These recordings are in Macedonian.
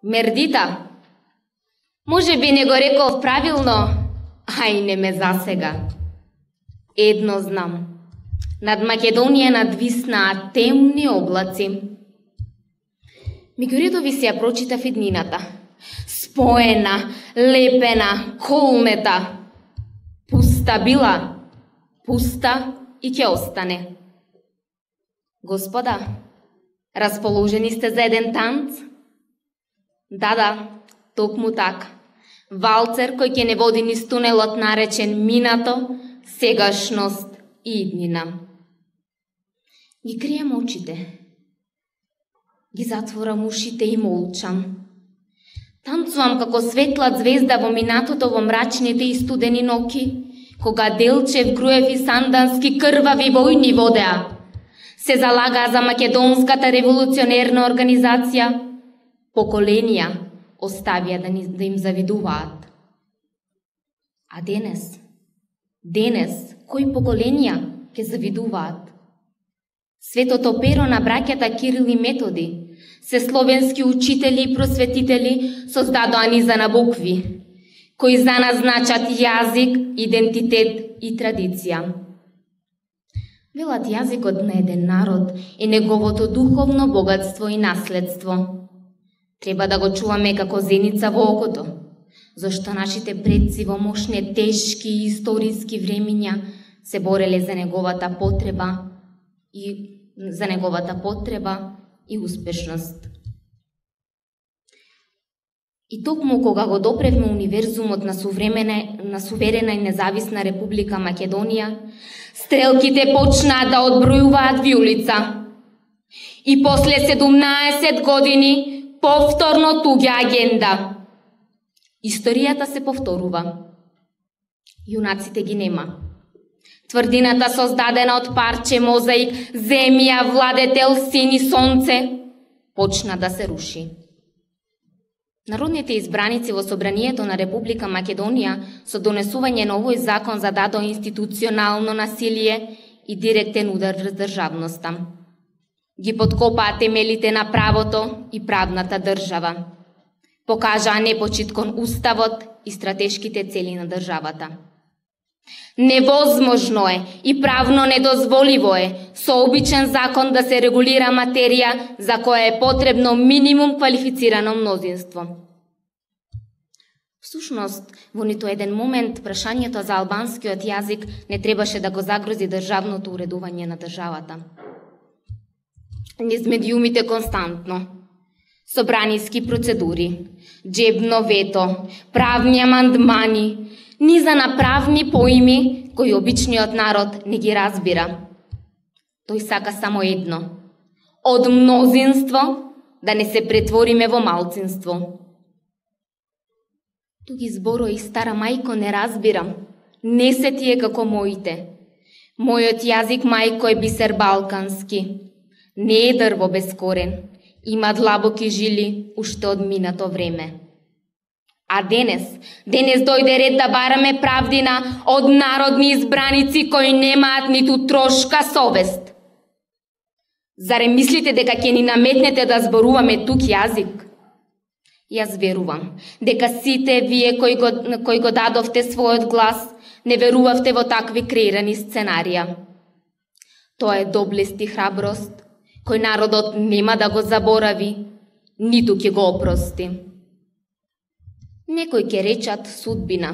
Мердита. Може би не го реков правилно, а и не ме засега. Едно знам. Над Македонија надвиснаа темни облаци. Меѓу редови се ја прочитав иднината. Споена, лепена, колнета. Пуста била, пуста и ќе остане. Господа, расположени сте за еден танц? Да, токму така. Валцер кој ќе не води низ тунелот наречен минато, сегашност и иднина. Ги крием очите. Ги затворам ушите и молчам. Танцувам како светла звезда во минатото во мрачните и студени ноки, кога Делчев, Груев и Сандански крвави војни водеа. Се залагаа за македонската револуционерна организација. Поколенија оставија да им завидуваат. А денес, кои поколенија ќе завидуваат? Светото перо на браќата Кирил и Методи, се словенски учители и просветители создадоа низа на букви, кои за нас значат јазик, идентитет и традиција. Велат јазикот на еден народ е неговото духовно богатство и наследство. Треба да го чуваме како зеница во окото, зашто нашите предци во мошне тешки и историски времиња се бореле за неговата потреба и успешност. И токму кога го допревме универзумот на суверена и независна Република Македонија, стрелките почнаа да одбројуваат виулица. И после 17 години повторно туѓа агенда. Историјата се повторува. Јунаците ги нема. Тврдината создадена од парче мозаик, земја, владетел, син и сонце, почна да се руши. Народните избраници во Собранието на Република Македонија со донесување на овој закон зададоа институционално насилие и директен удар врз државноста. Ги подкопаа темелите на правото и правната држава. Покажаа непочит кон уставот и стратешките цели на државата. Невозможно е и правно недозволиво е со обичен закон да се регулира материја за која е потребно минимум квалифицирано мнозинство. Всушност, во ниту еден момент прашањето за албанскиот јазик не требаше да го загрози државното уредување на државата. Низ медиумите константно. Собраниски процедури, джебно вето, правни амандмани, низа на правни поими кои обичниот народ не ги разбира. Тој сака само едно: од мнозинство да не се претвориме во малцинство. Туги зборои, стара мајко, не разбирам. Не се тие како моите. Мојот јазик, мајко, е бисер балкански. Не е дрво без корен. Има длабоки жили уште од минато време. А денес дојде ред да бараме правдина од народни избраници кои немаат ниту трошка совест. Заре мислите дека ќе ни наметнете да зборуваме тук јазик? Јас верувам дека сите вие кои го дадовте својот глас не верувавте во такви креирани сценарија. Тоа е доблест и храброст кој народот нема да го заборави, ниту ќе го опрости. Некои ќе речат судбина.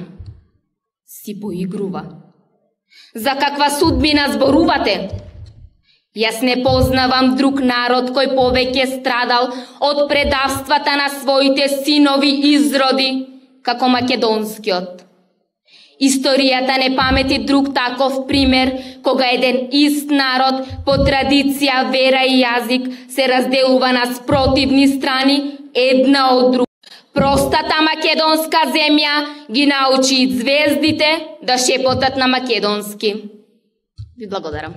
Си поигрува. За каква судбина зборувате? Јас не познавам друг народ кој повеќе страдал од предавствата на своите синови изроди како македонскиот. Историјата не памети друг таков пример кога еден ист народ по традиција, вера и јазик се разделува на спротивни страни една од друга. Простата македонска земја ги научи звездите да шепотат на македонски. Ви благодарам.